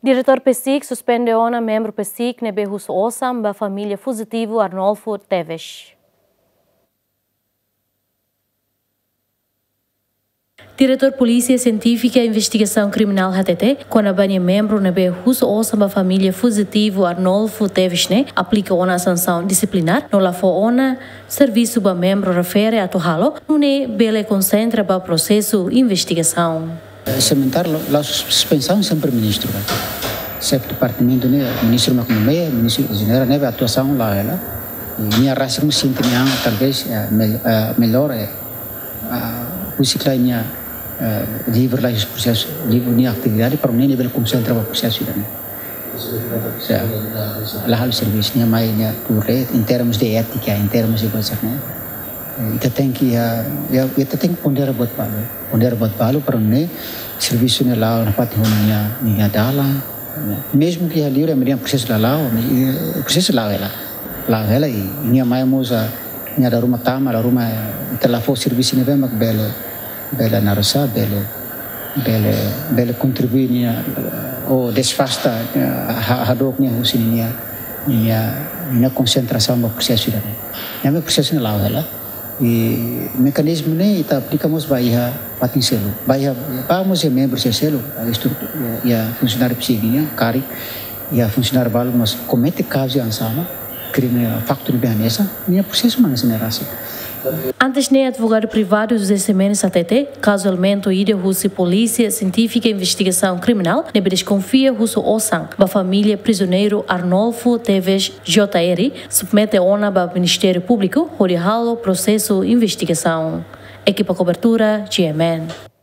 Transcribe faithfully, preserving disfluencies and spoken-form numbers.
Diretór PCIC suspende ona membru PCIC ne'ebé husu osan ba família fujitivu Arnolfo Teves. Diretór Polísia Sientífika Investigasaun Kriminál hatete, kona-ba nia membru ne'ebé husu osan ba família fujitivu Arnolfo Teves ne'e, aplika ona sansaun disiplinár, no la fó ona servisu ba membru refere atu halo, nune'e bele konsentra ba prosesu investigasaun. Sementara la, la sus-, suspensaun sempre ministru, kan. Xefe departamentu ne'e, ministru mak nomeia, ministru jenerál ne'e, atuasaun la'o hela. I nia rasik mós sente nia an, talvés, eh, mel-, eh, mellór, eh, ah, husik lai nia, eh, livre lai prosesu, livre nia atividade, para nune'e bele konsentra ba prosesu ida-ne'e. Sa-, la halo servisu, nia mai nia tuur, em termos de étika, em termos de coisa, né? Ita tenke, ah, ya, ita tenke pondera buat balu. Pondera buat balu para nune'e servisu ne'e la'o nafatin ho nia, nia dalan. Mezmu ke iha liur, ema dehan prosesu la la'o, mas, eh, prosesu la'o hela. La'o hela i nia mai mós, ah, nia dala ruma tama, dala ruma, eh, ita la fó servisu ne'ebé mak bele, bele narosa, bele, bele, bele kontribui nia, eh, ou desfasta, eh, ha-, hadook nia husi nia, nia, nia konsentrasaun ba prosesu ida-ne'e. Nia mai prosesu ne'e la'o hela. I mekanizmu ne'e ita aplika mós ba iha fatin seluk. Ba iha, ba mós iha membru seluk, iha estrutu-, iha funsionáriu PCIC nian, karik iha funsionáriu balu mós komete kazu hanesan ne'e, krime, faktu ne'ebé hanesan, nia prosesu mak hanesan ne'e rasik. Antes ne'e, advogadu privadu José Ximenes hatete, kazu elementu ida husi Polísia Sientífika Investigasaun Kriminál ne'ebé deskonfia husu osan ba família prizioneiru Arnolfo Teves J R, submete ona ba Ministériu Públiku hodi halo prosesu investigasaun. Ekipa kobertura, G M N.